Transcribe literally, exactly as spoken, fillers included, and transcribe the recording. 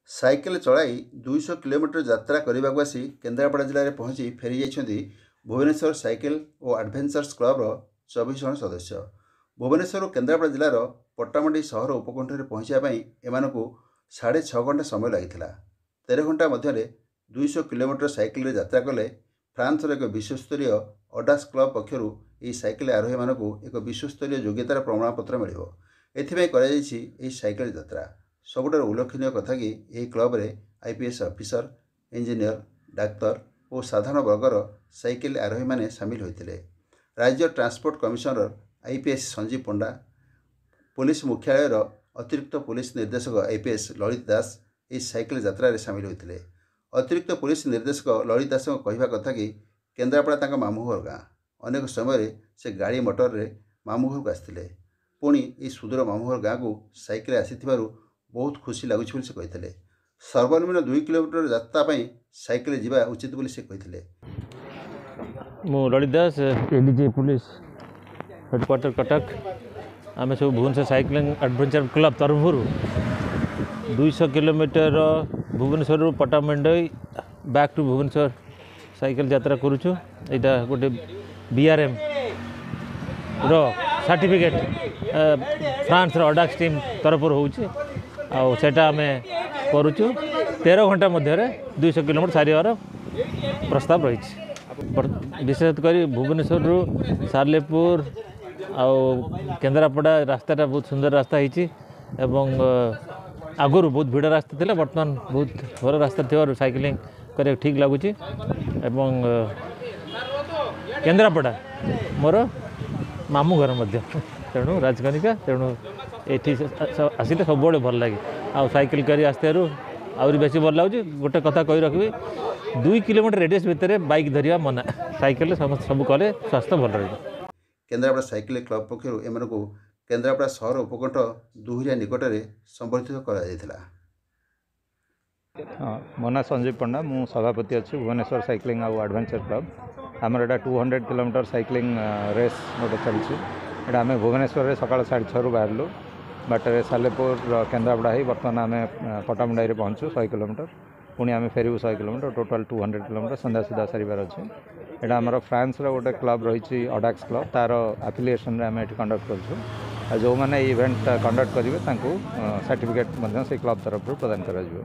Cycle ଚଳାଇ ଦୁଇଶହ kilometre ଯାତ୍ରା କରିବାକୁ ଆସି କେନ୍ଦ୍ରାପଡ଼ା ଜିଲ୍ଲାରେ ପହଞ୍ଚି ଫେରିଯାଇଛନ୍ତି ଭୁବନେଶ୍ୱର ସାଇକେଲ ଓ ଆଡ଼ଭେଞ୍ଚର୍ସ କ୍ଲବର ଚବିଶ ଜଣ ସଦସ୍ୟ। ଭୁବନେଶ୍ୱରରୁ କେନ୍ଦ୍ରାପଡ଼ା ଜିଲ୍ଲାର ପଟ୍ଟାମୁଣ୍ଡାଇ ସହର ଉପକଣ୍ଠରେ ପହଞ୍ଚିବା ପାଇଁ ଏମାନଙ୍କୁ ସାଢ଼େ ଛଅ ଘଣ୍ଟା ସମୟ ଲାଗିଥିଲା। ତେର ଘଣ୍ଟା ମଧ୍ୟରେ ଦୁଇଶହ କିଲୋମିଟର ସାଇକେଲରେ ଯାତ୍ରା କଲେ ଫ୍ରାନ୍ସର ଏକ ବିଶ୍ୱସ୍ତରୀୟ ଅଡାକ୍ସ କ୍ଲବ ପକ୍ଷରୁ ଏହି ସାଇକେଲ ଆରୋହୀମାନଙ୍କୁ ଏକ ବିଶ୍ୱସ୍ତରୀୟ ଯୋଗ୍ୟତାର ପ୍ରମାଣପତ୍ର ମିଳିବ। ଏଥିପାଇଁ କରାଯାଇଛି ଏହି ସାଇକେଲ ଯାତ୍ରା। ସବୁଠାରୁ ଉଲ୍ଲେଖନୀୟ କଥା କି ଏହି କ୍ଲବରେ ଆଇପିଏସ୍ ଅଫିସର, ଇଞ୍ଜିନିୟର, ଡାକ୍ତର ଓ ସାଧାରଣ ବର୍ଗର ସାଇକେଲ ଆରୋହୀମାନେ ସାମିଲ ହୋଇଥିଲେ। ରାଜ୍ୟ transport commissioner IPS Sanjeev Panda, police ମୁଖ୍ୟାଳୟର ଅତିରିକ୍ତ ପୋଲିସ ନିର୍ଦ୍ଦେଶକ ଆଇପିଏସ୍ ଲଳିତ ଦାସ ଏହି ସାଇକେଲ ଯାତ୍ରାରେ ସାମିଲ ହୋଇଥିଲେ। ଅତିରିକ୍ତ ପୋଲିସ ନିର୍ଦ୍ଦେଶକ ଲଳିତ ଦାସଙ୍କ କହିବା କଥା କି କେନ୍ଦ୍ରାପଡ଼ା ତାଙ୍କ ମାମୁଁ ଘର ଗାଁ। ଅନେକ ସମୟରେ ସେ ଗାଡ଼ି ମଟରରେ ମାମୁଁ ଘରକୁ ଆସିଥିଲେ। ପୁଣି ଏହି ସୁଦୂର ମାମୁଁ ଘର ଗାଁକୁ ସାଇକେଲରେ ଆସିଥିବାରୁ ବହୁତ ଖୁସି ଲାଗୁଛି ବୋଲି ସେ କହିଥିଲେ। ସର୍ବନିମ୍ନ ଦୁଇ କିଲୋମିଟର ଯାତ୍ରା ପାଇଁ ସାଇକେଲରେ ଯିବା ଉଚିତ ବୋଲି ସେ କହିଥିଲେ। ମୁଁ Lalit Das, ADG police headquarter, Cuttack. ଆମେ ସବୁ ଭୁବନେଶ୍ୱର ସାଇକ୍ଲିଂ ଆଡ଼ଭେଞ୍ଚର କ୍ଲବ୍ ତରଫରୁ ଦୁଇଶହ କିଲୋମିଟର ଭୁବନେଶ୍ୱରରୁ Pattamundai back to Bhubaneswar cycle ଯାତ୍ରା କରୁଛୁ। ଏଇଟା ଗୋଟେ ବି ଆର୍ ଏମ୍ ର ସାର୍ଟିଫିକେଟ୍ ଫ୍ରାନ୍ସର ଅଡାକ୍ସ ଟିମ୍ ତରଫରୁ ହେଉଛି ଆଉ ସେଇଟା ଆମେ କରୁଛୁ। ତେର ଘଣ୍ଟା ମଧ୍ୟରେ ଦୁଇଶହ କିଲୋମିଟର ସାରିବାର ପ୍ରସ୍ତାବ ରହିଛି। ବିଶେଷ କରି ଭୁବନେଶ୍ୱରରୁ ସାଲେପୁର ଆଉ କେନ୍ଦ୍ରାପଡ଼ା ରାସ୍ତାଟା ବହୁତ ସୁନ୍ଦର ରାସ୍ତା ହେଇଛି ଏବଂ ଆଗରୁ ବହୁତ ଭିଡ଼ ରାସ୍ତା ଥିଲା। ବର୍ତ୍ତମାନ ବହୁତ ଭଲ ରାସ୍ତା ଥିବାରୁ ସାଇକେଲିଂ କରିବାକୁ ଠିକ୍ ଲାଗୁଛି ଏବଂ କେନ୍ଦ୍ରାପଡ଼ା ମୋର ମାମୁଁ ଘର ମଧ୍ୟ, ତେଣୁ ରାଜକନିକା। ତେଣୁ ଏଠି ଆସିଲେ ସବୁବେଳେ ଭଲ ଲାଗେ ଆଉ ସାଇକେଲ କରି ଆସିଥିବାରୁ ଆହୁରି ବେଶୀ ଭଲ ଲାଗୁଛି। ଗୋଟେ କଥା କହି ରଖିବି, ଦୁଇ କିଲୋମିଟର ରେଡ଼ିୟସ୍ ଭିତରେ ବାଇକ୍ ଧରିବା ମନା। ସାଇକେଲରେ ସମସ୍ତେ ସବୁ କଲେ ସ୍ୱାସ୍ଥ୍ୟ ଭଲ ରହିବ। କେନ୍ଦ୍ରାପଡ଼ା ସାଇକେଲ କ୍ଲବ ପକ୍ଷରୁ ଏମାନଙ୍କୁ କେନ୍ଦ୍ରାପଡ଼ା ସହର ଉପକଣ୍ଠ ଦୁହୁରିଆ ନିକଟରେ ସମ୍ବର୍ଦ୍ଧିତ କରାଯାଇଥିଲା। ହଁ, ମୋ ନାଁ ସଞ୍ଜୀବ ପଣ୍ଡା, ମୁଁ ସଭାପତି ଅଛି ଭୁବନେଶ୍ୱର ସାଇକ୍ଲିଂ ଆଉ ଆଡ଼ଭେଞ୍ଚର କ୍ଲବ୍। ଆମର ଏଇଟା two hundred kilometer cycling race ଗୋଟେ ଚାଲିଛି। ଏଇଟା ଆମେ ଭୁବନେଶ୍ୱରରେ ସକାଳ ସାଢ଼େ ଛଅରୁ ବାହାରିଲୁ। ବାଟରେ ସାଲେପୁର, କେନ୍ଦ୍ରାପଡ଼ା ହେଇ ବର୍ତ୍ତମାନ ଆମେ ପଟ୍ଟାମୁଣ୍ଡାଇରେ ପହଞ୍ଚୁ ଶହେ କିଲୋମିଟର। ପୁଣି ଆମେ ଫେରିବୁ ଶହେ kilometre, total two hundred kilometer ସନ୍ଧ୍ୟା ସୁଦ୍ଧା ସାରିବାର ଅଛି। ଏଇଟା ଆମର ଫ୍ରାନ୍ସର ଗୋଟେ କ୍ଲବ୍ ରହିଛି, ଅଡାକ୍ସ କ୍ଲବ୍, ତା'ର ଆଫିଲିଏସନ୍ରେ ଆମେ ଏଠି କଣ୍ଡକ୍ଟ କରୁଛୁ। ଆଉ ଯେଉଁମାନେ ଏଇ ଇଭେଣ୍ଟ କଣ୍ଡକ୍ଟ କରିବେ, ତାଙ୍କୁ ସାର୍ଟିଫିକେଟ୍ ମଧ୍ୟ ସେଇ କ୍ଲବ୍ ତରଫରୁ ପ୍ରଦାନ କରାଯିବ।